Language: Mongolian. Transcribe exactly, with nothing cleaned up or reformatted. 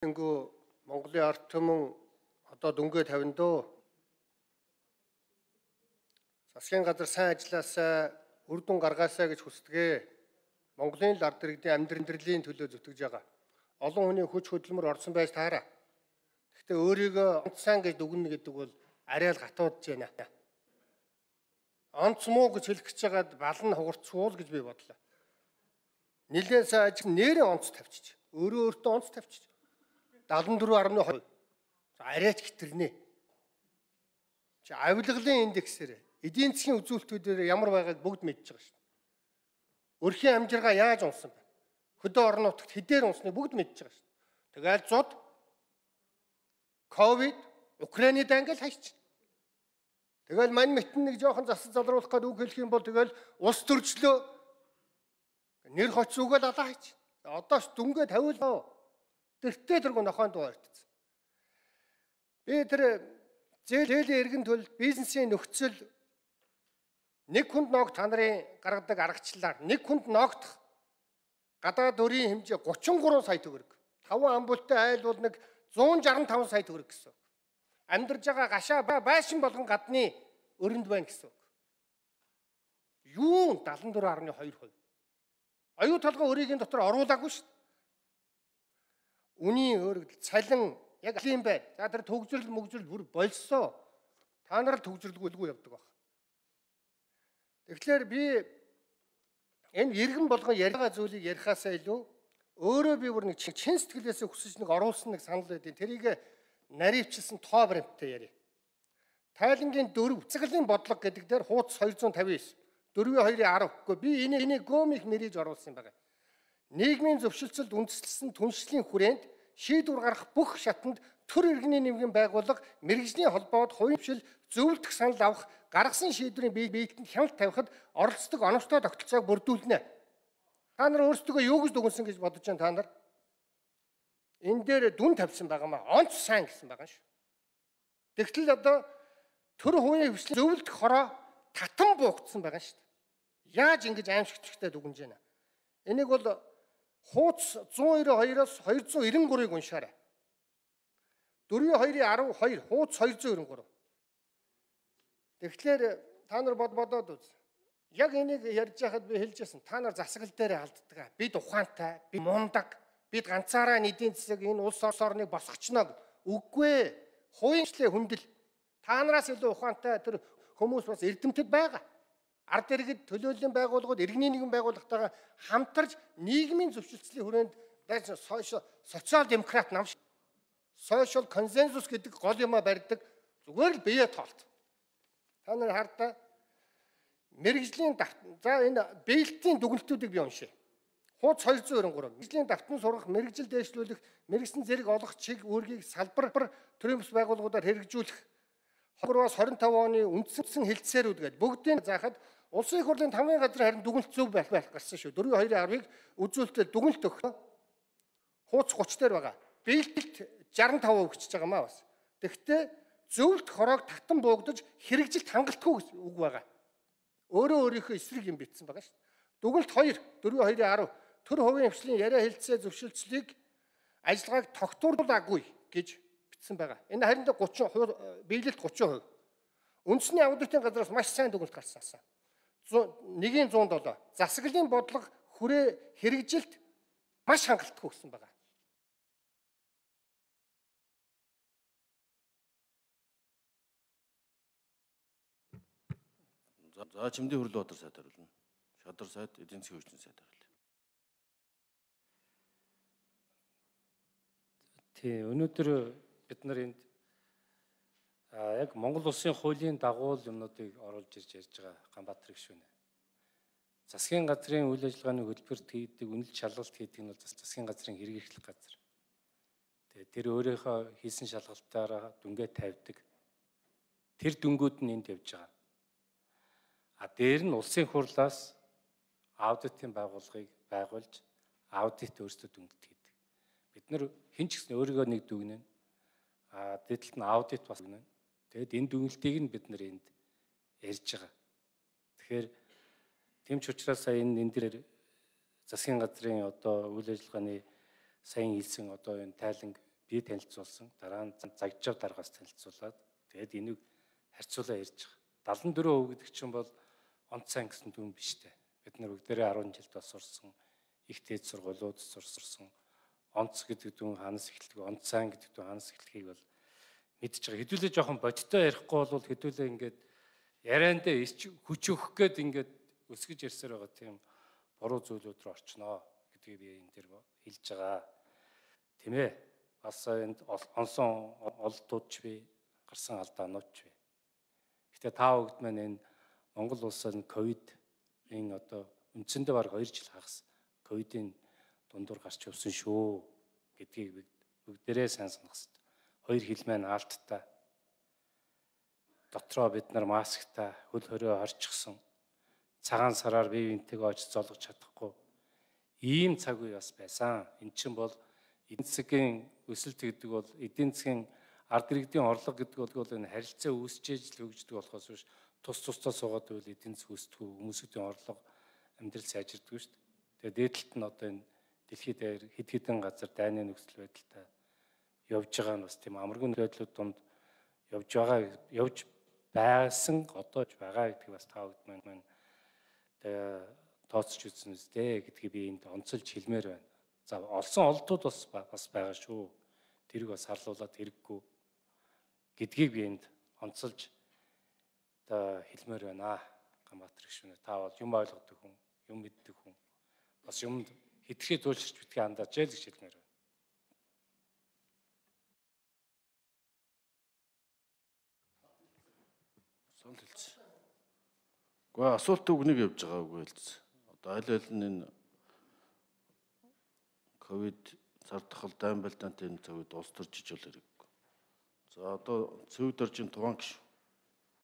Тэнгүү Монголын ард түмэн одоо дүнгээ тавиндоо засгийн газар сайн ажилласаа үр дүн гаргаасаа гэж хүсдэгэ. Монголын л ард иргэдийн амьдралын төлөө зүтгэж байгаа. Олон хүний хүч хөдөлмөр орсон байж таараа. Гэхдээ өөрийгөө онцсан гэж дүгнэ гэдэг бол арай л гатуудж байна. Онц муу гэж хэлэх гэж байгаад балан хугарцуул гэж би бодлоо. Нилээн сайн ажиг нэрээ онц тавьчих. Өөрөө өөртөө онц тавьчих. дадлан дөрөв гаруй хувь. Арайч хитэрнэ. Чи авилгалын индексээр эдийн засгийн үзүүлэлтүүдээр ямар байгааг бүгд мэдж байгаа шүү дээ. Өрхийн амжиргаа яаж унсан бэ? Хөдөө орон нутагт хэдээр унсныг бүгд мэдж байгаа шүү дээ. Тэгэл зод ковид Украины дангал хайч. Тэгэл мань мэтэн нэг жоохон засал залруулах гэдэг үг хэлэх юм бол тэгэл улс төрчлөө нэр хоц үгээл алаа хайч. Одоош дүнгээ тавиулаа. Тэртээ тэргүй нохойн дуу ярьдсан. Би тэр зээлийн эргэн төл бизнесийн нөхцөл нэг хүнд ноогт та нарын гаргадаг аргачлалаар нэг хүнд ноогдох гадаад өрийн хэмжээ гучин гурван сая төгрөг. таван амбултай айл бол нэг зуун жарган таван сая төгрөг гэсэн. Амьдарж байгаа гашаа байшин болгон гадны өрөнд байна гэсэн. Юу дадлан дөрөв гаруй хоёр хувь. Аюу толгой өрийн дотор оруулаагүй шүү дээ. Үнийн өргөдөл цалин яг ийм байна. За тэр төгжрөл мөгжрөл бүр болсоо. Та нар л төгжрөлгүйгүй явдаг баг. Тэгэхээр би энэ иргэн болгон яриага зүйлийг ярихаасаа илүү өөрөө би бүр нэг чин сэтгэлээсээ хүсэж нэг оруулсан нэг санал байдیں۔ Тэрийг наривчилсан тоо баримттай яри. Тайлангийн дөрөв цэцгэлийн бодлого гэдэг дээр хуудас хоёр зуун тавин девять. дөрвийн хоёрын арав. Гэхдээ би энийг энийг гомих мэрэж оруулсан юм байна. Нийгмийн зөвшөлтсөлд үндэслэсэн түншлэлийн хүрээнд шийдвэр гаргах бүх шатанд төр иргэний нэмгэн байгууллага мэрэгжлийн холбоод хувийн зөвлөлдөх санал авах гаргасан шийдвэрийн биелэлтэнд хяналт тавихад оролцдог оновчтой тогтолцоог бүрдүүлнэ. Та нар өөрсдөө юу гэж дүгнсэн гэж бодож байна та нар? Энэ дээр дүн тавьсан байгаа маа. Онц сайн гэсэн байгаа шүү. Тэгтэл одоо төр хувийн хвшлийн зөвлөлдөх хороо татан буугдсан байгаа шүү. Яаж ингэж аимшигчтай дүгнэж байна? Энийг бол хуудас зуун нэрээ хоёроос хоёр зуун нэрээ гурыг уншаарай. дөрвийн хоёрын арав хоёр хуудас хоёр зуун нэрээ гурав. Тэгэхээр та нар бод бодоод үз. Яг энийг ярьж байхад би хэлжсэн. Та нар засаглал дээр алддаг. Бид ухаантай, би мундаг, бид ганцаараа эдийн засаг энэ улс орныг босгочно гэд. Үгүй. Хувийнчлээ хүндэл. Та нараас илүү ухаантай тэр хүмүүс бас эрдэмтэд байгаа. Ард иргэд төлөөллийн байгууллагууд иргэний нэгэн байгууллагатайгаа хамтарч нийгмийн зөвшөлтслийн хүрээнд социал демократ нам social consensus гэдэг гол юмаа барьдаг зүгээр л бие тоолт. Та нар хардаа мэрэгжлийн за энэ биелэлтийн дүгнэлтүүдийг би уншия. Хуудас хоёр зуун нэрээ гурав. Мэрэгжлийн давтан сургах, мэрэгжил дэвшлүүлэх, мэрэгсэн зэрэг олох чиг үүргийг салбар төрийн бас байгууллагуудаар хэрэгжүүлэх хогроос хорин таван оны үндсэн хэлтсээрүүд гэдэг бүгдийг заахад улсын их хурлын таван газрын харин дүгнэлт зөв байх байх гарсан шүү. дөрвийн хоёрын арвыг үзүүлэлтэд дүгнэлт өгөх. Хуудас гуч дээр байгаа. Биелэлт жарган таван өгч байгаа маа бас. Тэгвэл зөвлөлт хороог татан буугдаж хэрэгжилт хангалтгүй үг байгаа. Өөрөө өөрийнхөө эсрэг юм битсэн байгаа шүү. Дүгнэлт хоёр дөрвийн хоёрын арав төр хувийн хвшлийн яриа хэлцээ зөвшөлтслийг ажиллагааг тогтууруулаагүй гэж бичсэн байгаа. Энэ харин гучин биелэлт гучин хувь. Үндэсний аудитын газраас маш сайн дүгнэлт гарсан. Нэгийн зуун долоо засаглалын бодлого хүрээ хэрэгжилт маш хангалттай гэсэн байгаа. За чимдийн хөрөлөө бодор сайд хариулна. Шадар сайд, эдийн засгийн хөгжлийн сайд хариулна. Тий, өнөөдөр бид нар энд яг Монгол улсын хуулийн дагуу юмнуудыг оруулж ирж ярьж байгаа Ганбаатар гишүүнэ. Засгийн газрын үйл ажиллагааны хөтөлбөрт хийдэг үнэлт шалгалт хийдэг нь бол засгийн газрын хэрэгжих газар. Тэгээ тэр өөрийнхөө хийсэн шалгалтаараа дүнгээ тавьдаг. Тэр дүнгууд нь энд явж байгаа. А дээр нь улсын хурлаас аудитын байгууллагыг байгуулж аудит өөрсдөө дүнэлт хийдэг. Бид нар хэн ч гэсэн өөрийгөө нэг дүгнэн. А дэдэлт нь аудит бас дүгнэн. Тэгэд энэ дүгнэлтийг нь бид нар энд ярьж байгаа. Тэгэхээр тийм ч учраас сая энэ энэ дээр засгийн газрын одоо үйл ажиллагааны сайн хэлсэн одоо энэ тайланг би танилцуулсан, дараа нь загжав даргаас танилцуулаад тэгээд энийг харьцуулаа ярьж байгаа. далан дөрөв хувь гэдэг чинь бол онцгой гэсэн дүн биш дээ. Бид нар бүгдээрээ арван жилд бас сурсан, их дээд сургуулиуд сурсан. Онц гэдэг дүн ханаас эхэлдэг, онцайн гэдэг дүн ханаас эхлэхийг бол мэдж байгаа. Хэдүүлээ жоохон бодиттой ярихгүй бол хэдүүлээ ингээд яриандаа хүч өгөх гээд ингээд өсгөж ярьсаар байгаа тийм буруу зүйлүүд рүү орчноо гэдгийг би энэ дээр хэлж байгаа. Тийм ээ. Бас энд онсон олдууд ч бий, гарсан алдаанууд ч бий. Гэтэ та бүгд маань энэ Монгол улсад ковидын одоо үндсэндээ баг хоёр жил хагас ковидын дундуур гарч явсан шүү гэдгийг бүгдээрээ сайн санах хэрэгтэй. Хоёр хил маань аалттай. Дотроо бид нар масктай, хөл хорио орчихсон. Цагаан сараар бие биентэйгээ очиж золгож чадахгүй. Ийм цаг үе бас байсан. Эн чинь бол эдийн засгийн өсөлт гэдэг бол эдийн засгийн ард иргэдийн орлого гэдэг бол энэ харилцаа үүсчээж л хөгждөг болохоос биш тус тусдаа суугаад байвал эдийн засаг өсдөг, хүмүүсийн орлого амьдрал сайжирдаг шүү дээ. Тэгээд дээдлэлт нь одоо энэ дэлхийд дээр хэд хэдэн газар дайны нөхцөл байдалтай явж байгаа нь бас тийм амаргүй байдлууд донд явж байгаа явж байсан одоо ч байгаа гэдгийг бас та бүгд маань тооцож үзсэн үстэй гэдгийг би энд онцолж хэлмээр байна. За олсон олдууд бас бас байгаа шүү. Тэрийг бас харлуулаад хэрэггүй гэдгийг би энд онцолж одоо хэлмээр байна. Ганбаатар гишүүнээ та бол юм ойлгодог хүн, юм мэддэг хүн. Бас юмд хитрхээ туйлширч битгий андаж ял гэж хэлмээр байна. Сон хэлсэн. Гэхдээ асуулт үгнийг явж байгаа үгүй хэлсэн. Одоо аль аль нь энэ ковид цар тахал дайм байлдаантай энэ цаг үед улс төрж ижил хэрэггүй. За одоо цэвд оржин Туван гишүүн